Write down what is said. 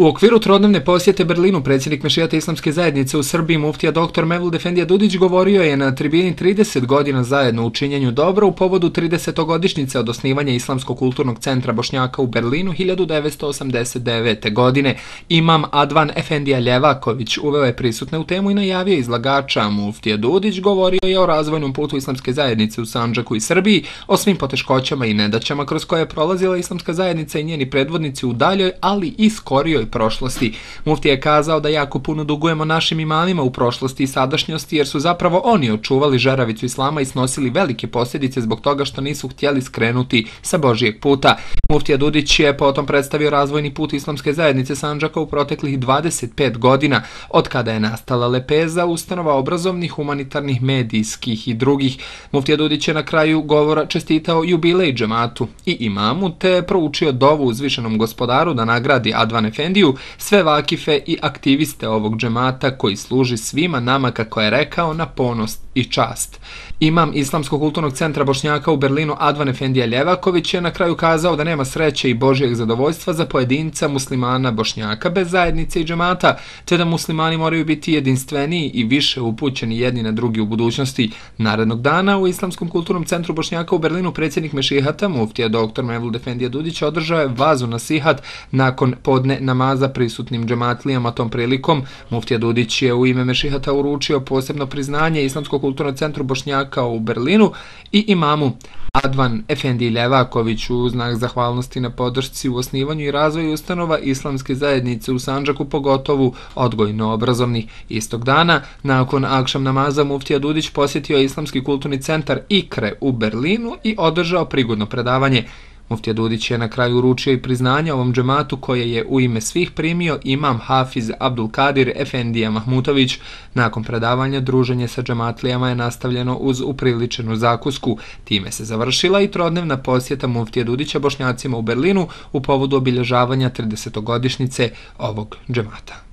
U okviru trodnevne posjete Berlinu predsjednik Mešijata islamske zajednice u Srbiji muftija dr. Mevlud Efendija Dudić govorio je na tribini 30 godina zajedno u činjenju dobra u povodu 30-godišnjice od osnivanja Islamskog kulturnog centra Bošnjaka u Berlinu 1989. godine. Imam Advan Efendija Ljevaković uveo je prisutne u temu i najavio izlagača. Muftija Dudić govorio je o razvojnom putu islamske zajednice u Sandžaku i Srbiji, o svim poteškoćama i nedaćama kroz koje je prolazila islamska zajednica i njeni predvodnici u daljoj, ali i skorijoj prošlosti. Muftija je kazao da jako puno dugujemo našim imamima u prošlosti i sadašnjosti, jer su zapravo oni očuvali žeravicu islama i snosili velike posljedice zbog toga što nisu htjeli skrenuti sa Božijeg puta. Muftija Dudić je potom predstavio razvojni put islamske zajednice Sandžaka u proteklih 25 godina, od kada je nastala lepeza ustanova obrazovnih, humanitarnih, medijskih i drugih. Muftija Dudić je na kraju govora čestitao jubilej džematu i imamu, te proučio dovu uzvišenom gospodaru da nagradi Advan Efendiju, sve vakife i aktiviste ovog džemata koji služi svima nama, kako je rekao, na ponos i čast. Imam Islamskog kulturnog centra Bošnjaka u Berlinu Advan Efendija Ljevaković je na kraju kazao da nema sreće i Božijeg zadovoljstva za pojedinca muslimana Bošnjaka bez zajednice i džemata, te da muslimani moraju biti jedinstveniji i više upućeni jedni na drugi u budućnosti. Narednog dana u Islamskom kulturnom centru Bošnjaka u Berlinu predsjednik Mešihata muftija dr. Mevlud Efendija Dudić održao je vazu nasihat nakon podne namaza prisutnim džematlijama. Tom prilikom muftija Dudić je u ime Mešihata uručio posebno priznanje Islamskog kulturnog centru Bošnjaka u Berlinu i imamu Advan Efendiji Ljevakoviću u znak zahvalnosti na podršci u osnivanju i razvoju ustanova islamske zajednice u Sandžaku, pogotovo odgojno-obrazovnih. Istog dana, nakon akšam namaza, muftija Dudić posjetio Islamski kulturni centar Ikre u Berlinu i održao prigodno predavanje. Muftija Dudić je na kraju uručio i priznanje ovom džematu koje je u ime svih primio imam Hafiz Abdulkadir Efendija Mahmutović. Nakon predavanja druženje sa džematlijama je nastavljeno uz upriličenu zakusku. Time se završila i trodnevna posjeta muftije Dudića Bošnjacima u Berlinu u povodu obilježavanja 30-godišnjice ovog džemata.